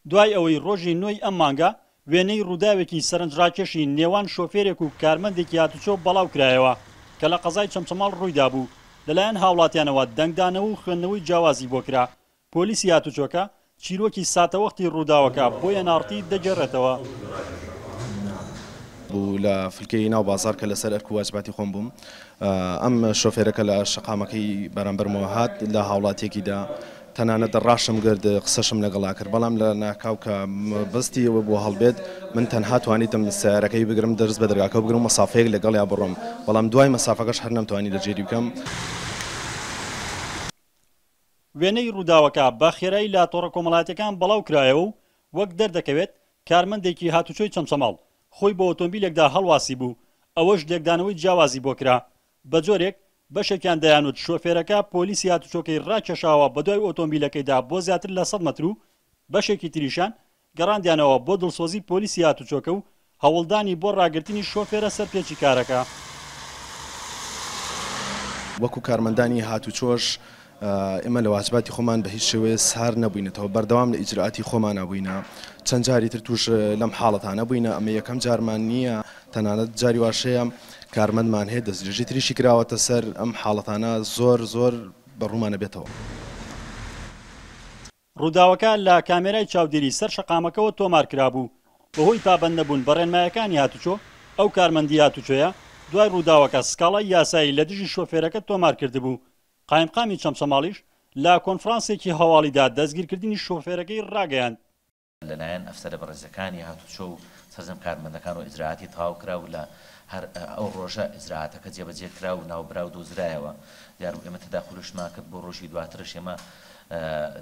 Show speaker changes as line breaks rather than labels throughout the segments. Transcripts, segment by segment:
دوای ئەوەی ڕۆژی نۆی ئەم مانگە وێنەی ڕووداوێکی سەرنجڕاکێشی نێوان شۆفێرێک و کارمەندێکی هاتوچۆ بەڵاوکرایەوە کە لە قەزای چەمچەماڵ ڕوویدابوو، لەلایەن هاوڵاتیانەوە دەنگدانەوە و خوێندنەوەی جیاوازی بۆ کرا. پۆلیسی هاتوچۆکە چیرۆکی ساتەوەختی ڕووداوەکە بۆ ئێن ئاڕ تی دەگێڕێتەوە.
بوو لە فلکەی ناو بازاڕ کە لەسەر ئەرک و واجباتی خۆم بووم ئەم شۆفێرە کە لە شەقامەکەی بەرامبەرمەوە هات لە هاوڵاتیەکی دا تەنانەت ڕاشم گرت قسەشم لەگەڵا کرد بەڵام لە ناکاو کە مەبەستی ئەوە بوو هەڵبێت من تەنها توانیتم سەیارەکەی بگرم دەست بە دەرگاکەوە بگرم و مەسافەیەک لەگەڵیا بڕۆم بەڵام دوای مەسافەکەش هەر نەمتوانی لە جێری بکەم.
وێنەی ڕووداوەکە بە خێرایی لە تۆڕە کۆمەڵایەتیەکان بەڵاو کرایەوە و وەک دەردەکەوێت کارمەندێکی هاتوچۆی چەمچەماڵ خۆی بە ئۆتۆمبیلێکدا هەڵواسیبوو، ئەوەش لێکدانەوەی جیاوازی بۆ کرا بەجۆرێک بەشێکیان دەیانوت شۆفێرەکە پۆلیسی هاتوچۆکەی ڕاکێشاوە بەدوای ئۆتۆمبیلەکەیدا بۆ زیاتر لە 100 مەتر و بەشێکی تریشیان گەڕاندیانەوە بۆ دڵسۆزی پۆلیسی هاتوچۆکە و هەوڵدانی بۆ ڕاگرتنی شۆفێرە سەرپێچیکارەکە.
وەکو کارمەندانی هاتوچۆش ئێمە لە واجباتی خۆمان بە هیچ شێوەیە سار نەبووینەتەوە، بەردەوام لە ئیجرائاتی خۆمانا بووینە، چەند جاری تر تووش لەم حاڵەتانە بووینە، ئەمە یەکەم جارمان نییە، تەنانەت جاری واش هەیە کارمەندمان هەیە دەستدرێژی تریشی کراوەتە سەر، ئەم حاڵەتانە زۆر زۆر بە ڕوومانە بێتەوە.
ڕووداوەکە لە کامێرای چاودێری سەر شەقامەکەوە تۆمارکرابوو، بەهۆی پابەندنەبوون بە ڕێنمایەکانی هاتوچۆ، ئەو کارمەندی هاتوچۆیە دوای ڕووداوەکە سکاڵای یاسایی لە دژی شۆفێرەکە تۆمارکردبوو، قایمقامی چەمچەماڵیش لە کۆنفرانسێکی هەواڵیدا دەستگیرکردنی شۆفێرەکەی ڕاگەیاند.
لەلایەن ئەفسەرە بەڕێزەکانی هاتوچۆ و سەرجەم کارمەندەکان و ئیجرائاتی تەواو کرا و لە هەر ئەو ڕۆژە ئیجرائاتەکە جێبەجێ کرا و ناوبراو دۆزرایەوە. دیار بوو ئێمە تەداخولیشمان کرد بۆ ڕۆژی دواترش ئێمە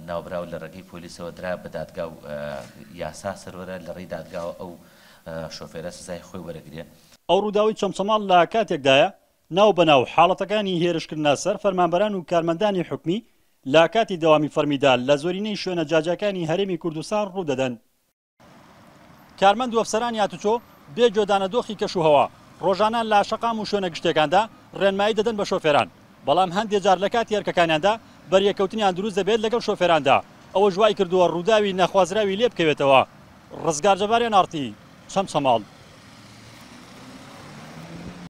ناوبراو لە ڕێگەی پۆلیسەوە درا بە دادگا و یاسا سەروەرە لە ڕێی دادگاوە ئەو شۆفێرە سزای خۆی وەرەگرێ.
ئەو ڕووداوەی چەمچەماڵ لە کاتێکدایە، ناو بە ناو حاڵەتەکانی هێرشکردنە سەر فەرمانبەران و کارمەندانی حکومی لە کاتی دەوامی فەرمیدا لە زۆرینەی شوێنە جیاجیاکانی هەرێمی کوردستان ڕوودەدەن. کارمەند و ئەفسەرانی هاتوچۆ بێ گوێدانە دۆخی کەشوهەوا، ڕۆژانە لە شەقام و شوێنە گشتییەکاندا ڕێنمایی دەدەن بە شۆفێران، بەڵام هەندێ جار لە کاتی ئەرکەکانیاندا بەریەککەوتنیان دروست دەبێت لەگەڵ شۆفێراندا، ئەوەش وایکردووە ڕووداوی نەخوازراوی لێبکەوێتەوە. ڕزگار جەبار، ئێن ئاڕ تی، چەمچەماڵ.